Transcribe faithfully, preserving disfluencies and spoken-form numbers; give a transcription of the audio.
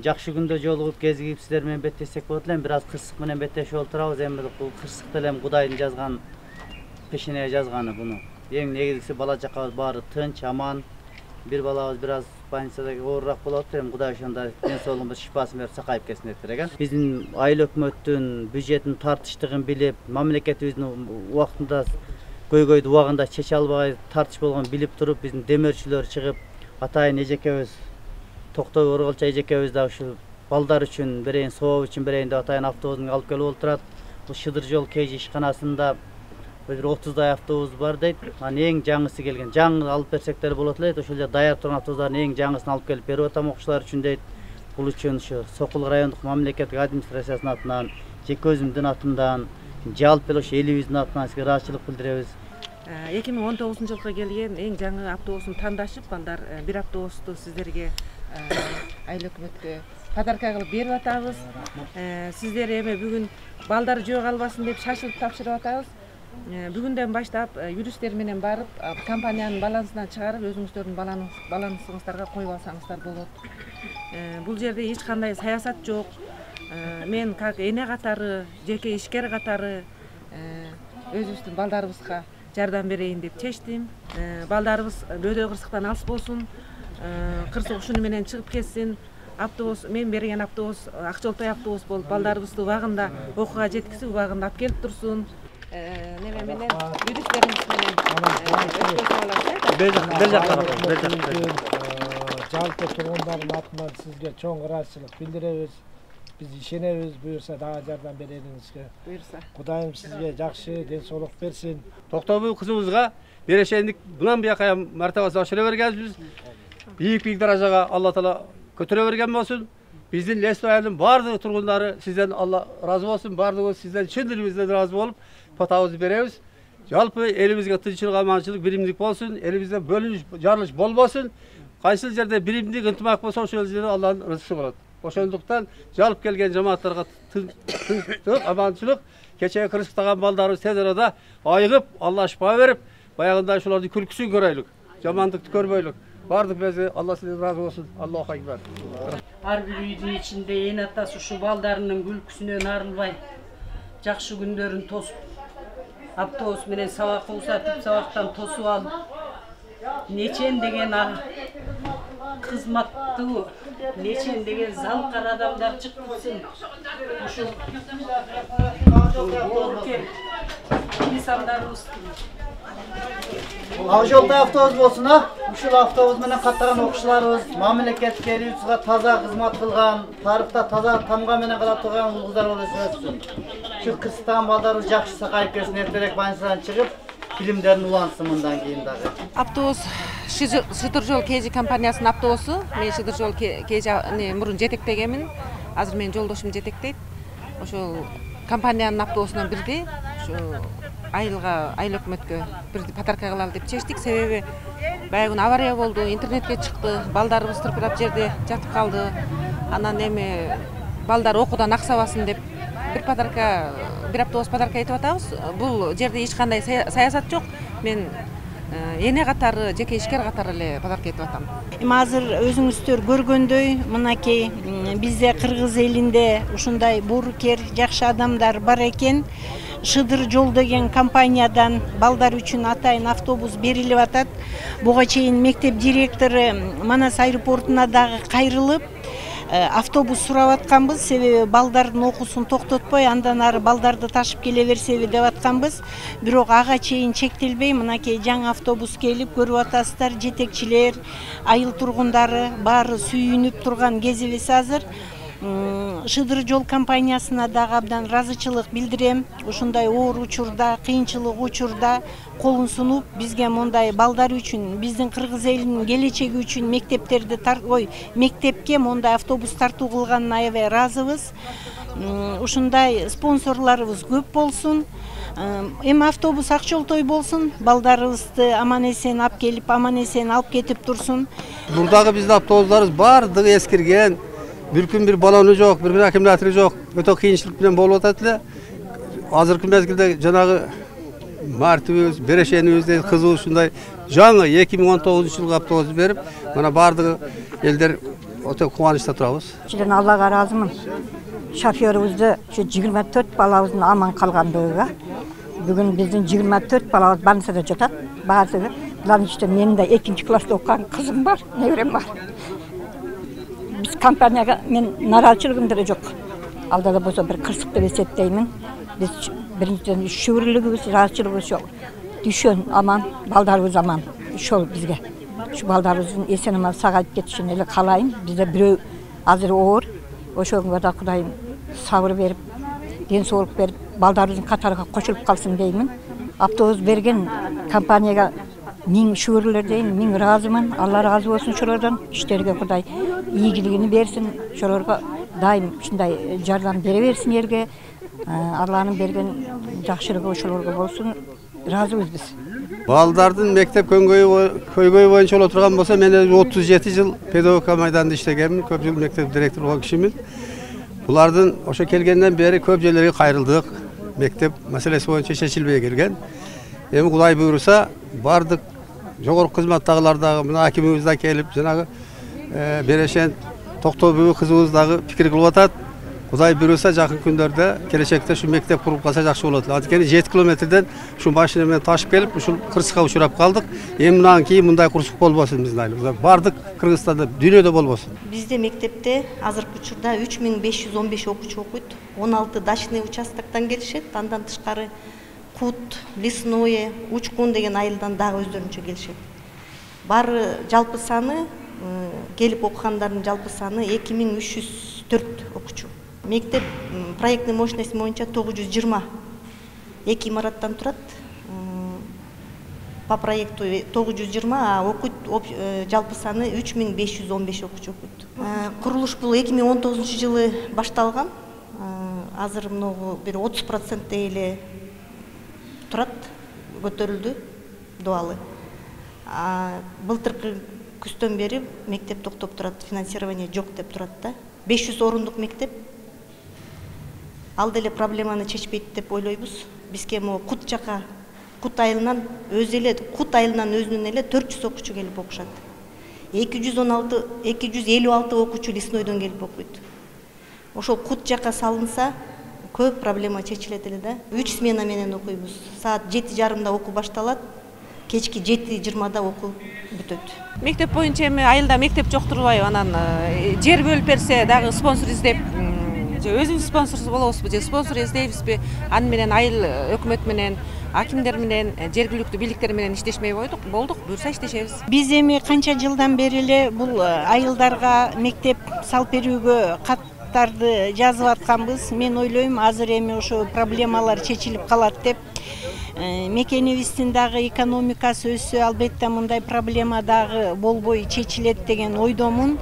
жакшы күндө жолугуп кезигип сиздер менен беттешсек болот эле. Бир аз кырсык менен беттешип отурабыз. Эми бул кырсык деле Кудайдын жазган пешенеге жазганы буну. Эң негизгиси бала чакабыз баары тынч, аман. Бир балабыз бир аз больницада оорураак болот. Эми Кудай ошондой ден соолугубуз шифасын берип сакайып кетсин деп элек. Биздин айыл өкмөттүн бюджеттин тартыштыгын билип, мамлекетибиздин убактында көйгөйдү убагында чече албай тартыш болгонун билип туруп, биздин демөөрчүлөр чыгып, атайын эжекебиз Токтой Орголчу эжекебиз да ушу балдар үчүн берейин, соо үчүн берейин деп атайын автобустун алып келип отурат. Бул Шыдыр жол КЖ ишканасында бир отуздай автобус бар дейт. Анын эң жаңысы келген. Жаңы алып берсек деле болот эле. Ошол эле даяр турган автобустардын эң жаңысын алып келип берип атам окуучулар үчүн дейт. Бул үчүн ушу Сокул райондук мамлекеттик администрациясынын атынан, жеке өзүмдүн атымдан, жалпы эле ошо элибиздин атынан сизге ыраазычылык билдиребиз. эки миң он тогузунчу жылга келген эң жаңы автобусун тандашып, балдар бир автобусту сиздерге айыл өкмөткө подарка кылып берип атабыз. Сиздер эми бүгүн балдар жөө калбасын деп шашылып тапшырып атабыз. Бүгүндөн баштап юристтер менен барып, компаниянын балансынан чыгарып, өзүңүздөрдүн балансыңыздарга коюп алсаңыздар болот. Бул жерде эч кандай саясат жок. Мен как эне катары, жеке ишкер катары өзүбүздүн балдарыбызга жардам берейин деп чечтим. Балдарыбыз бөөдө кырсыктан алыс болсун, кырсык ушуну менен чыгып кетсин. Автобус, мен берген автобус Акчолтой автобус болуп, балдарыбызды убагында окууга жеткизип, убагында алып келип турсун. Неме менен юристтерибиз менен бер жакка бер жакка жалпы тургундардын атынан сизге чоң ыраазычылык билдиребиз. Биз ишенебиз, буюрса дагы жардам берериңизге. Буюрса. Кудайым сизге жакшы ден соолук берсин. Токтобой кызыбызга берешендик мындан бияка мартабасы ашыра бергенбиз. Бийик-бийик даражага Алла Таала көтөрө берген болсун. Биздин Лесто айылдын бардык тургундары сизден Алла ыраазы болсун. Бардыгыбыз сизден чын дилибизден ыраазы болуп, патабызды беребиз. Жалпы элибизге тынччылык, аманчылык, биримдик болсун. Элибизде бөлүнүш, жарылыш болбосун. Кайсыл жерде биримдик, ынтымак болсо, ошол жерде Алланын рызкысы болот. Ошондуктан жалып келген жамааттарга тынчтык, аманчылык, кечеги кырсыктаган балдарыбыз тез арада айыгып, Алла шифа берип, баягындай ошолордун күлкүсүн көрөйлүк. Жамандыкты көрбөйлүк. Бардык бизе Алла сизден ыраазы болсун. Аллаху акбар. Ар бир үйдүн ичинде эне атасы ушу балдарынын күлкүсүнөн арылбай, жакшы күндөрүн тосуп, автобус менен сабакка узатып, сабактан тосуп алып, нечен деген кызматтуу, нечен деген залкар адамдар чыксын. Ушул инсандарыбыз Акчолтой автобус болсун, а? Ушул автобус менен каттаган окуучуларыбыз мамлекетке элибизге таза кызмат кылган, тарыхта таза тамга менен кала турган улгуздар болуп өссүн. Ушу кырсыктаган балдарыбыз жакшы сакайып келсин, эртерээк больницадан чыгып, фильмдерин улантсын мындан кийин дагы. Автобус Шыдыр жол КЖ компаниясынын автобусу. Мен Шыдыр жол КЖ мурун жетектегенмин. Азыр менин жолдошум жетектейт. Ошол компаниянын автобусунан бирди. Ушу айылга, айыл өкмөткө бирди подарка кылалы деп чечтик. Себеби баягы күнү авария болду, интернетке чыкты, балдарыбыз тырпырап жерде жатып калды. Анан эми балдар окуудан аксабасын деп бир подарка, бир автобус подарка этип атабыз. Бул жерде эч кандай саясат жок. Мен эне катары, жеке ишкер катары эле подарка этип атам. Эми азыр өзүңүздөр көргөндөй, мынакей бизде кыргыз элинде ушундай буурукер, жакшы адамдар бар экен. Шыдыр жол деген компаниядан балдар үчүн атайын автобус берилип атат. Буга чейин мектеп директору Манас аэропортуна дагы кайрылып, автобус сурап атканбыз, себеби балдардын окуусун токтотпой, андан ары балдарды ташып келе берсеби деп атканбыз. Бирок ага чейин чектелбей, мынакей жаңы автобус келип, көрүп атасыздар, жетекчилер, айыл тургундары баары сүйүнүп турган кезибиз азыр. Шыдыр жол компаниясына дагы абдан ыраазычылык билдирем. Ушундай оор учурда, кыйынчылык учурда колун сунуп, бизге мондай балдар үчүн, биздин кыргыз элинин келечеги үчүн мектептерди ой, мектепке мондай автобус тартуу кылганына аябай ыраазыбыз. Ушундай спонсорлорубуз көп болсун. Эми автобус Акчолтой болсун, балдарыбызды аман-эсен алып келип, аман-эсен алып кетип турсун. Мурдагы биздин автобустарыбыз бардыгы эскирген. Bir gün bir balonu yok, bir bir akümülatörü yok. Öte kıyınçılık bilen bol otat ile. Azırkı mezgilde janağı martibimiz, bereşenimiz, kızı şunday жаңы эки миң он тогузунчу жылғы автобус беріп, mana bardığı elder өтө кубанычта турабыз. Чиден Аллага ыраазымын. Шофёрубузду ушу жыйырма төрт балабыздын аман калгандыгыга. Бүгүн биздин жыйырма төрт балабыз больницада жатат. Баардыгы. Булардын ичинде менин да экинчи класста окуган кызым бар, неберем бар. Биз компанияга мен нааразычылыгым деле жок. Алда да болсо бир кырсык деп эсептеймин. Биз биринчиден шүгүрлүгүбүз, ыраазычылыгыбыз жок. Düşön aman, baldarыбыз аман. Ошол бизге. Ушу балдарыбыздын эсен аман сагайып кетишин эле каалайм. Бизде бирөө азыр оор. Ошого да Кудайым сабыр берип, ден соолук берип, балдарыбыздын катарыга кошулуп калсын деймин. Автобус берген компанияга миң шүгүрлөр дейм, миң ыраазымын. Алла ыраазы болсун ошолордон. Иштерге Кудай ийгилигин берсин. Ошолорго дайым ушундай жардам бере берсин элге. Алланын берген жакшылыгы ошолорго болсун. Ыраазыбыз биз. Балдардын мектеп көйгөйү боюнча боло турган болсо, мен отуз жети жыл педагогика майданында иштегенмин, көп жыл мектеп директору болгон кишимин. Булардын ошо келгенден бери көп жерлерге кайрылдык. Мектеп маселеси боюнча чечилбей келген. Эми Кудай буйруса, бардык жогорку кызматтагылар дагы, мына акимибиз да келип, жанагы Берешен Токтобүй кызыбыз дагы пикир кылып атат. Кудай буйруса, жакын күндөрдө келечекте ушу мектеп куруп калса жакшы болот. Анткени жети километрден ушу машина менен ташып келип, ушул кырсыкка учурап калдык. Эми мындан кийин мындай кырсык болбосун биздин айылыбызда. Бардык Кыргызстанда, дүйнөдө болбосун. Бизде мектепте азыркы учурда үч миң беш жүз он беш окуучу окуйт. он алты дачный участоктон келишет. Андан тышкары Кут, Лесное, Учкун деген айылдан дагы өздөрүнчө келишет. Бары жалпы саны, келип окугандардын жалпы саны эки миң үч жүз төрт окуучу. Мектеп проектный мощность боюнча тогуз жүз жыйырма эки имараттан турат. По проекту тогуз жүз жыйырма, а окуйт жалпы саны үч миң беш жүз он беш окуучу окуйт. Курулуш бул эки миң он тогузунчу жылы башталган. Азыр мынагу бир отуз проценттей эле турат, көтөрүлдү дуалы. Былтыркы күздөн бери мектеп токтоп турат, финансирование жок деп турат да. беш жүз орундук мектеп. Ал деле проблеманы чечпейт деп ойлойбуз. Бизге могу Кут жака, Кут айылынан өзү эле, Кут айылынан өзүнүн эле төрт жүз окуучу келип окушат. эки жүз он алты, эки жүз элүү алты окуучу Леснойдон келип окуйт. Ошол Кут жака салынса, көп проблема чечилет эле да. үч смена менен окуйбуз. Саат жети жарымда окуу башталат, кечки жети жыйырмада окуу бүтөт. Мектеп боюнча эми айылда мектеп жок турбайбы, анан жер бөлүп берсе дагы спонсор издеп, өзүбүз спонсор болобузбу же спонсор издейбизби? Аны менен айыл өкмөт менен, акимдер менен, жергиликтүү бийликтер менен иштешмей койдук, болдук, буюрса иштешебиз. Биз эми канча жылдан бери эле бул айылдарга мектеп салып берүүгө каттарды жазып атканбыз. Мен ойлойм, азыр эми ошо проблемалар чечилип калат деп. Мекенибиздин дагы экономикасы өссө, албетте мындай проблема дагы болбой чечилет деген ойдомун.